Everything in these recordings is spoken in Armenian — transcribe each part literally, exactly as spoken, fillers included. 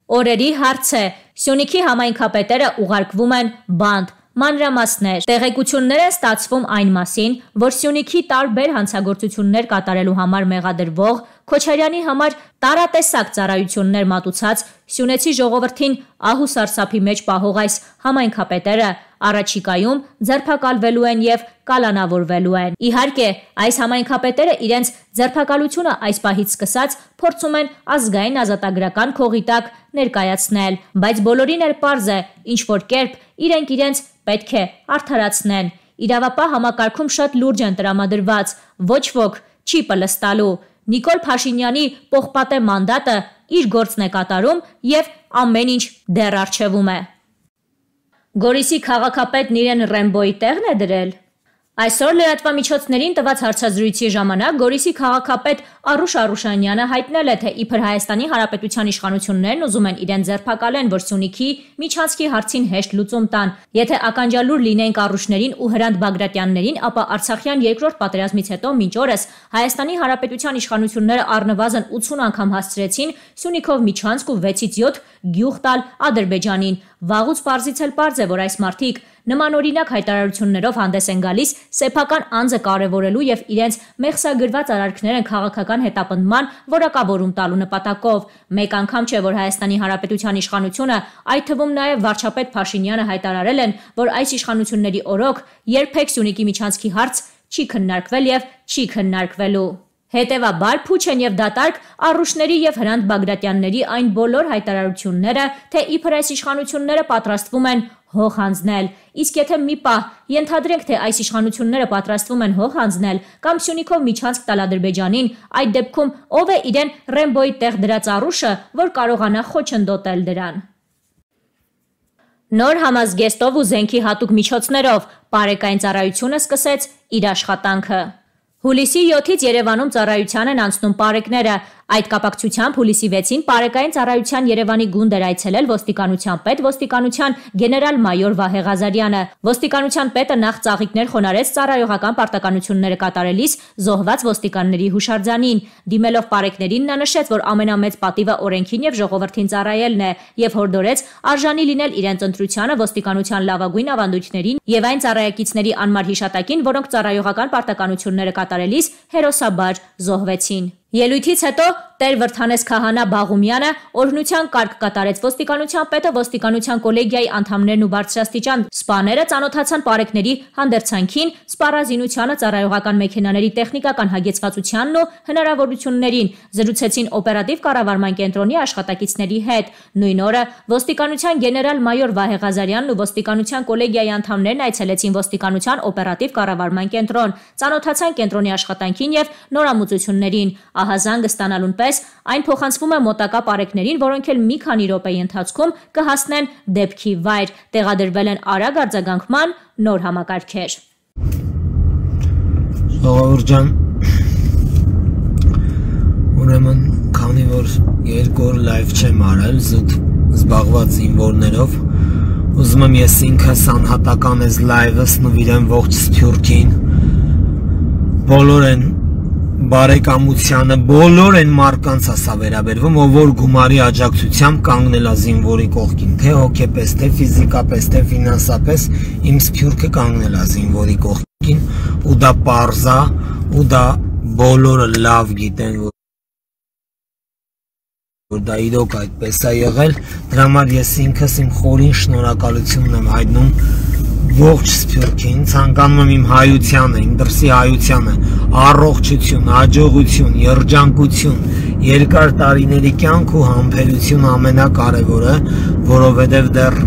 Օրերի հարց է, Սյունիքի համայնքապետերը ուղարկվում են բանտ, մանրամասներ, տեղեկություններ են ստացվում այն մասին, որ Սյունիքի տարբեր հանցագործություններ կատարելու համար մեղադրվող, Քոչարյանի համար տարատեսակ ծառայություններ մատուցած սյունեցի ժողովրդին ահու սարսափի մեջ պահող այս համայնքապետերը առաջիկայում ձերբակալվելու են և կալանավորվելու են։ Իհարկե, այս համայնքապետերը իրենց ձերբակալությունը այս պահից սկսած փորձում են ազգային ազատագրական քողի տակ ներկայացնել, բայց բոլորին էլ պարզ է, ինչ-որ կերպ իրենք իրենց պետք է արդարացնեն։ Իրավապահ համակարգում շատ լուրջ են տրամադրված, ոչ ոք չի պլստալու։ Նիկոլ Փաշինյանի պողպատե մանդատը իր գործն է կատարում և ամեն ինչ դեռ առջևում է։ Գորիսի քաղաքապետն իրեն Ռեմբոյի տեղն է դրել։ Այսօր լրատվամիջոցներին տված հարցազրույցի ժամանակ Գորիսի քաղաքապետ Արուշ Արուշանյանը հայտնել է, թե իբր Հայաստանի Հանրապետության իշխանություններն ուզում են իրեն ձերբակալեն, որ Սյունիքի միջանցքի հարցին հեշտ լուծում տան։ Եթե ականջալուր լինենք Արուշներին ու Հրանտ Բագրատյաններին, ապա Արցախյան երկրորդ պատերազմից հետո մինչ օրս Հայաստանի Հանրապետության իշխանությունները առնվազն ութուն անգամ հասցրեցին Սյունիքով միջանցք ու վեցից յոթ գյուղ տալ Ադրբեջանին։ Վաղուց պարզից էլ պարզ է, որ այս մարդիկ նմանօրինակ հայտարարություններով հանդես են գալիս սեփական անձը կարևորելու և իրենց մեղսագրված արարքներն քաղաքական հետապնդման որակավորում տալու նպատակով։ Մեկ անգամ չէ, որ Հայաստանի Հանրապետության իշխանությունը, այդ թվում նաև վարչապետ Փաշինյանը հայտարարել են, որ այս իշխանությունների օրոք երբեք Սյունիքի միջանցքի հարց չի քննարկվել և չի քննարկվելու։ Հետևաբար փուչ են և դատարկ Արուշների և Հրանտ Բագրատյանների այն բոլոր հայտարարությունները, թե իբր այս իշխանությունները պատրաստվում են հող հանձնել։ Իսկ եթե մի պահ ենթադրենք, թե այս իշխանությունները պատրաստվում են հող հանձնել կամ Սյունիքով միջանցք տալ Ադրբեջանին, այդ դեպքում ով է իրեն Ռեմբոյի տեղ դրած Արուշը, որ կարողանա խոչընդոտել դրան։ Նոր համազգեստով ու զենքի հատուկ միջոցներով Պարեկային ծառայությունը սկսեց իր աշխատանքը։ Հուլիսի յոթից Երևանում ծառայության են անցնում պարեկները։ Այդ կապակցությամբ հուլիսի վեցին Պարեկային ծառայության Երևանի գունդ էր այցելել ոստիկանության պետ, ոստիկանության գեներալ-մայոր Վահե Ղազարյանը։ Ոստիկանության պետը նախ ծաղիկներ խոնարհեց ծառայողական պարտականությունները կատարելիս զոհված ոստիկանների հուշարձանին։ Դիմելով պարեկներին նա նշեց, որ ամենամեծ պատիվը օրենքին և ժողովրդին ծառայելն է, և հորդորեց արժանի լինել իրենց ընտրությանը, ոստիկանության լավագույն ավանդույթներին և այն ծառայակիցների անմար հիշատակին, որոնք ծառայողական պարտականությունները կատարելիս հերոսաբար զոհվեցին։ Ելույթից հետո Տեր Վրթանես Քահանա Բաղումյանը օրհնության կարգ կատարեց։ Ոստիկանության պետը, ոստիկանության կոլեգիայի անդամներն ու բարձրաստիճան սպաները ծանոթացան պարեկների հանդերձանքին, սպառազինությանը, ծառայողական մեքենաների տեխնիկական հագեցվածությանն ու հնարավորություններին, զրուցեցին օպերատիվ կառավարման կենտրոնի աշխատակիցների հետ։ Նույն օրը ոստիկանության գեներալ-մայոր Վահե Ղազարյանն ու ոստիկանության կոլեգիայի անդամներն այցելեցին ոստիկանության օպերատիվ կառավարման կենտրոն, ծանոթացան կենտրոնի աշխատանքին և նորամուծություններին։ Ահազանգ ստանալուն պես այն փոխանցվում է մոտակա պարեկներին, որոնք էլ մի քանի րոպեի ընթացքում կհասնեն դեպքի վայր։ Տեղադրվել են արագ արձագանքման նոր համակարգեր։ Ժողովուրդ ջան, ուրեմն քանի որ երկու օր լայվ չեմ արել, զուտ զբաղված զինվորներով, ուզում եմ ես ինքս անհատական ես լայվս նվիրեմ ողջ Սփյուռքին, բոլոր են բարեկամությանը, բոլոր են մարկանց ասա վերաբերվում, ով որ գումարի աջակցությամբ կանգնել է զինվորի կողքին, թե հոգեպես, թե ֆիզիկապես, թե ֆինանսապես, իմ Սփյուռքը կանգնել է զինվորի կողքին, ու դա պարզ է, ու դա բոլորը լավ գիտեն, որ դա իրոք այդպես է եղել, դրա համար ես ինքս իմ խորին շնորհակալությունն եմ հայտնում ողջ Սփյուռքին, ցանկանում եմ իմ հայությանը, իմ դրսի հայությանը, առողջություն, հաջողություն, երջանկություն, երկար տարիների կյանք ու համբերություն ամենակարևորը, որովհետև դեռ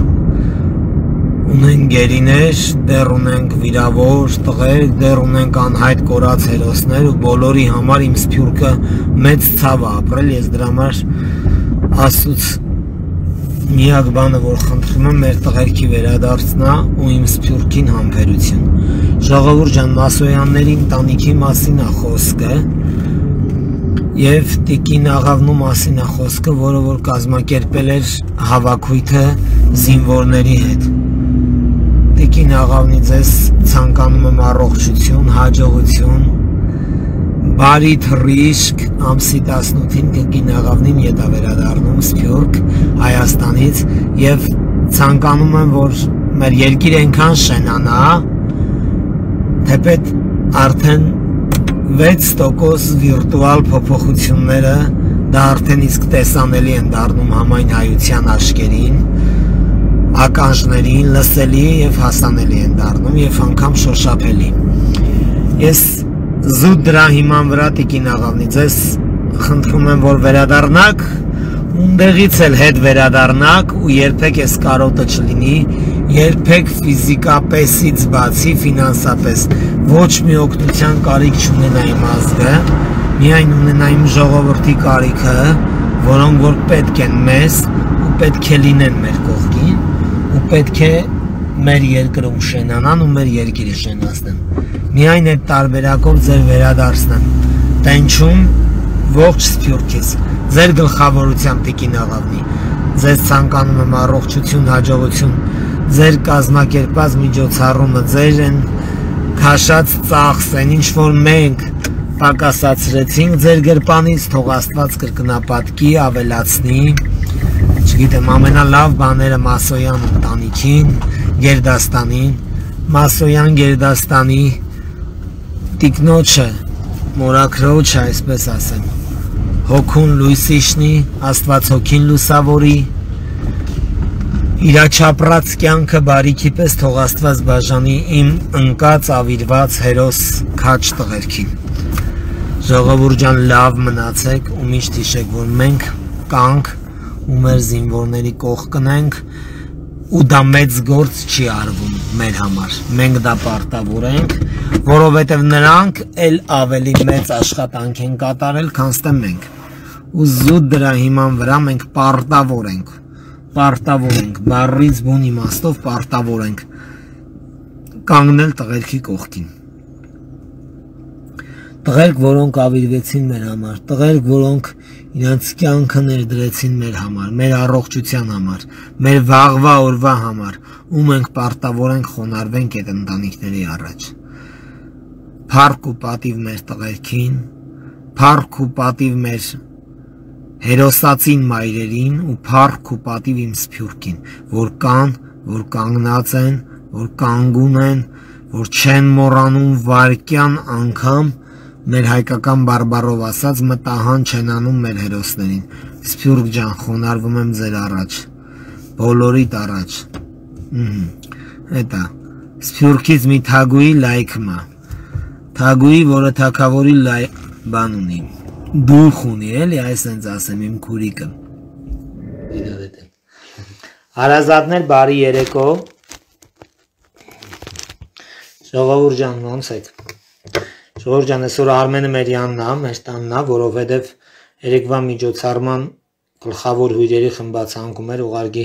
ունենք գերիներ, դեռ ունենք վիրավոր տղեր, դեռ ունենք անհայտ կորած հերոսներ ու բոլորի համար իմ Սփյուռքը մեծ ցավ է ապրել, ես դրա համար Աստծուց միակ բանը, որ խնդրում եմ, մեր տղերքի վերադարձնա ու իմ Սփյուռքին համբերություն։ Ժողովուրդ ջան, Մասոյանների ընտանիքի մասին է խոսքը և Տիկին Աղավնու մասին է խոսքը, որը որ կազմակերպել էր հավաքույթը զինվորների հետ։ Տիկին Աղավնի ձեզ ցանկանում եմ առողջություն, հաջողություն, բարի թռիչք ամսի տասնութին կգինաղավնին ետա վերադառնում Սփյուռք Հայաստանից եւ ցանկանում եմ որ մեր երկիր այնքան շենանա թեպետ արդեն վեց տոկոս վիրտուալ փոփոխությունները դա արդեն իսկ տեսանելի են դառնում համայն հայության աչքերին ականջներին լսելի եւ հասանելի են դառնում եւ անգամ շոշափելի ես զուտ դրա հիման վրա Տիկին աղավնի ձեզ խնդրում եմ որ վերադառնաք ունդեղից էլ հետ վերադառնաք ու երբեք այս կարոտը չլինի երբեք ֆիզիկապեսից բացի ֆինանսապես ոչ մի օգնության կարիք չունենա իմ ազգը միայն ունենա իմ ժողովրդի կարիքը որոնք որ պետք են մեզ ու պետք է լինեն մեր կողքին ու պետք է մեր երկրում շենանան ու մեր երկիրը շենացնեն միայն այդ տարբերակով ձեր վերադարձնեմ տենչում ողջ Սփյուռքից ձեր գլխավորությամբ Տիկին աղավնի ձեզ ցանկանում եմ առողջություն հաջողություն ձեր կազմակերպած միջոցառումը ձեր են քաշած ծախս են ինչ որ մենք պակասացրեցինք ձեր գրպանից թող Աստված կրկնապատկի ավելացնի չգիտեմ ամենալավ բաները Մասոյան ընտանիքին Գերդաստանին Մասոյան Գերդաստանի տիկնոջը մորաքրոջը այսպես ասեմ հոգուն լույսիշնի Աստված հոգին լուսավորի իրա չապրած կյանքը բարիքի պես թող Աստված բաժանի իմ ընկած ավիրված հերոս քաչ տղերքին ժողովուրդ ջան լավ մնացեք ու միշտ հիշեք որ մենք կանք ու մեր զինվորների կողքն ենք ու դա մեծ գործ չի արվում մեր համար մենք դա պարտավոր ենք որովհետև նրանք էլ ավելի մեծ աշխատանք են կատարել քան թե մենք ու զուտ դրա հիման վրա մենք պարտավոր ենք պարտավոր ենք բառից բուն իմաստով պարտավոր ենք կանգնել տղերքի կողքին տղերք որոնք ավիրվեցին մեր համար տղերք որոնք իրենց կյանքը ներդրեցին մեր համար մեր առողջության համար մեր վաղվա օրվա համար ու մենք պարտավոր ենք խոնարհվենք այդ ընտանիքների առաջ փառք ու պատիվ մեր տղերքին փառք ու պատիվ մեր հերոսացին մայրերին ու փառք ու պատիվ իմ Սփյուռքին որ կան որ կանգնած են որ կանգուն են որ չեն մոռանում վարկյան անգամ մեր հայկական բարբառով ասած մտահան չեն անում մեր հերոսներին Սփյուռք ջան խոնարհվում եմ ձեր առաջ բոլորիդ առաջ հետա Սփյուռքից մի թագուի լայքմա թագուի որը թագավորի լայ բան ունի դուխ ունի էլի այսպես ասեմ իմ քուրիկը հարազատներ բարի երեկո ժողովուրդ ջան ոնց եք Ժողովուրդ ջան, այսօր Արմենը մեր յանն է, մեր տանն է, որովհետև երեկվա միջոցառման գլխավոր հյուրերի խմբացանկում էր ուղարկի